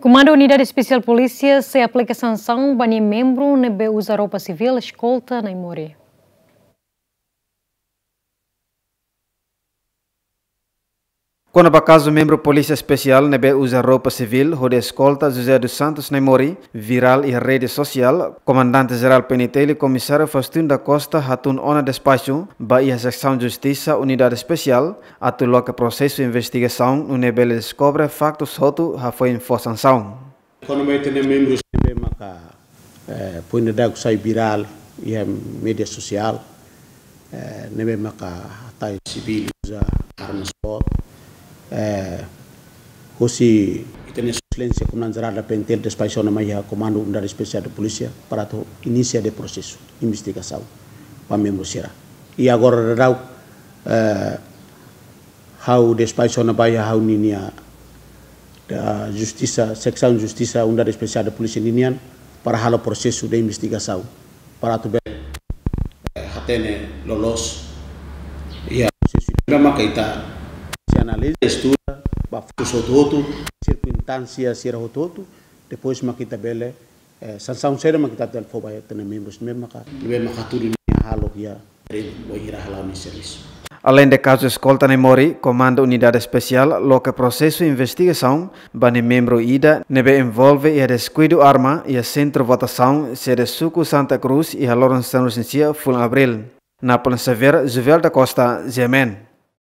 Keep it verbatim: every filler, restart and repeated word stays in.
Komandu Unidade Espesiál Polísia sei aplika sansaun ba nia membru ne'ebé uza roupa sivíl eskolta Naimori. Kona-ba kazu membru Polísia Espesiál ne'ebé uza roupa sivíl hodi eskolta José dos Santos Naimori virál iha rede sosiál, Komandante Jerál P N T L Komisáriu Faustino da Costa hatún ona despaxu ba iha Seksaun Justisa Unidade Espesiál atu loke prosesu investigasaun nune'e bele deskobre faktus hotu hafoin fó sansaun. Kona-ba ita-nia membru ne'ebé maka, eh, foin dadauk sai virál iha média sosiál, eh, ne'ebé maka hatais sivíl uza armas foun, eh, hosi ita-nia Sua Exelénsia Komandante Jerál da P N T L despaxa ona mai iha Komandu Unidade Espesiál de Polísia para atu inisia de'it prosesu investigasaun ba membru sira. I agora dadauk, eh, ha'u despaxa ona ba iha ha'u-nia, ah, Justisa, Seksaun Justisa Unidade Espesiál de Polísia ninian para halo prosesu de investigasaun para atu bele, eh, hatene loloos iha prosesu ne'ebé maka ita sei analiza, estuda ba faktus hotu-hotu, sirkunstánsia sira hotu-hotu, depois maka ita bele, eh, sansaun saida maka ita bele fó ba ita-nia membru ne'ebé maka, ne'ebé maka hatudu nia hahalok iha terrenu, wainhira hala'o nia servisu. Aleinde kazu eskolta Naimori, Komandu Unidade Espesiál loke prosesu investigasaun ba nia membru ida ne'ebé envolve iha deskuidu arma iha sentru votasaun sede suku Santa Cruz iha loron sanulu-resin-sia fulan Abríl. Napoleão Xavier, Juvel da Costa, G M N.